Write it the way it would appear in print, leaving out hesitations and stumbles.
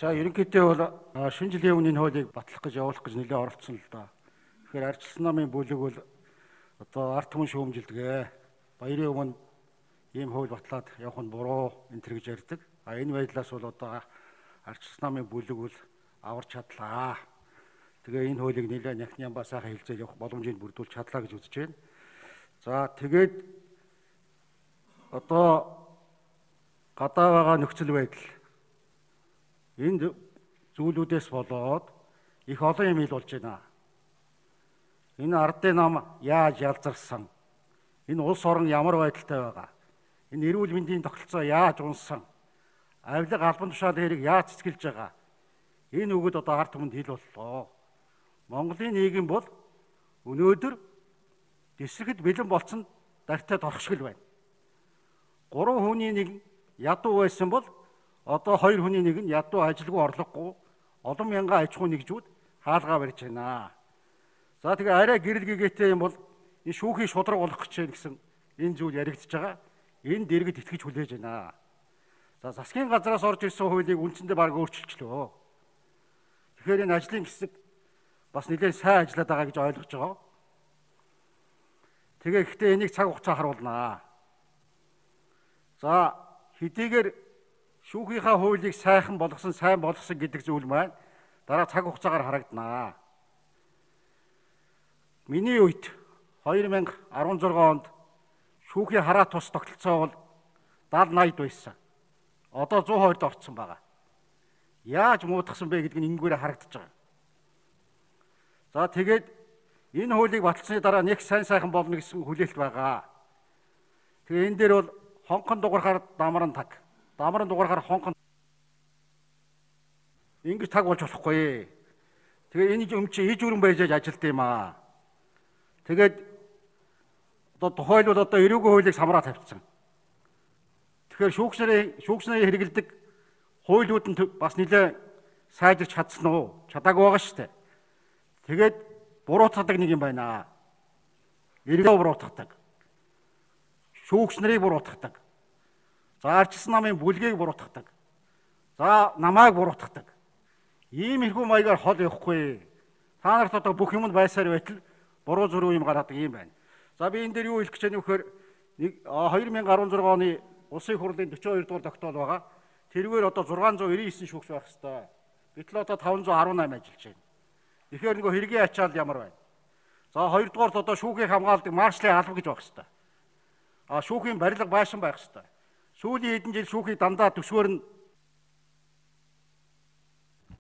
За ерөнхийдөө бол шинэ жилийн өмнө энэ хуулийг батлах гэж явуулах гэж нэлээд оролцсон л да. Тэгэхээр ардчилсан намын бүлэг бол одоо ард түмэн шүүмжилдэг. Баярын өмнө ийм хууль батлаад явах нь буруу энэ төр гэж ярьдаг. Энэ байдлаас бол одоо ардчилсан намын бүлэг бол аварч чадлаа. Тэгээ энэ хуулийг нэлээд няхнямбаа сайхан хэлцэл явах боломжийг бүрдүүлж чадлаа гэж үзэж байна. За тэгээд одоо гадаа байгаа нөхцөл байдал энэ зүйлүүдээс болоод их олон юм ил болж байна. Энэ ардын нам яаж ялзарсан? Энэ улс орон ямар байдалтай байгаа? Энэ эрүүл мэндийн тогтолцоо яаж унсан? Авилга албан тушаал хэрэг яаж цэцгэлж байгаа? Энэ үгэд одоо ард түмэнд хэл боллоо. Монголын нийгэм бол өнөөдөр дэсрэхэд бэлэн болцсон дартай торхшгэл байна. 3 хүний нэг ядуу байсан бол одоо 2 хүний нэг нь ядуу ажилгүй орлогогүй олон мянган аж ахуй нэгжүүд хаалгаа барьж байна. За тэгээ арай гэрэл гэгээтэй юм бол энэ шүүхийн шудраг болох гэж байна гэсэн энэ зүйл яригдчихэж байгаа. Энэ дэргэд итгэж хүлээж байна. За засгийн газраас орж ирсэн хуулийг үндсэндээ баг өөрчилчлөө. Тэгэхээр энэ ажлын хэсэг бас нэлээд сайн ажиллаад байгаа гэж ойлгож байгаа. Тэгээ гэхдээ энийг цаг хугацаа харуулнаа. За хэдийгээр шүүхийнхаа хуулийг сайхан болгосон гэдэг зүйл маань дараа цаг хугацаагаар харагданаа. Миний үед 2016 онд шүүхийн хараа тус тогтолцоо бол 70-80 байсан. Одоо 120-д орцсон байгаа. Яаж муудахсан бэ гэдг нь ингээгээрээ харагдаж байгаа. За тэгээд энэ хуулийг баталсны дараа нэг сайхан болно гэсэн хүлээлт байгаа. Тэгээ энэ дээр бол хонхон дугарахаар дамран таг. Дамран дугарахаар хонхон ингэж таг болж болохгүй. Тэгээ энэ юм чи иж өрөн байж ажилт юм аа. Тэгээд одоо тухайлбал одоо эрүүгийн хуулийг самраа тавьчихсан. Тэгэхээр шүүгчнэрийн хэрэгэлдэг хуулиуд нь бас нэлээд сайжирч чадсан уу? Чадаагүй байгаа шүү дээ. Тэгээд буруутгадаг нэг юм байна. Эргээ буруутгадаг. Шүүгчнэрийг буруутгадаг. За ардчилсан намын бүлгийг буруутгадаг. За намайг буруутгадаг. Иймэрхүү маягаар хол явахгүй. Та нарт одоо бүх юмд байсаар байтал буруу зөрүү юм гаргадаг юм байна. За би энэ дээр юу хэлэх гэж байна вэ гэхээр 2016 оны улсын хурлын 42 дугаар тогтоол байгаа. Тэргээр одоо 699 шүүгч байх хэвээр. Гэтэл одоо 518 ажиллаж байна. Тэгэхээр нөгөө хэргийн ачаал ямар байна? За хоёрдугаарт одоо шүүхийн хамгаалдаг маршлын алба гэж байх хэвээр. Шүүхийн барилга байшин байх хэвээр. Сүүлийн хэдэн жил шүүхий дандаа төсвөр нь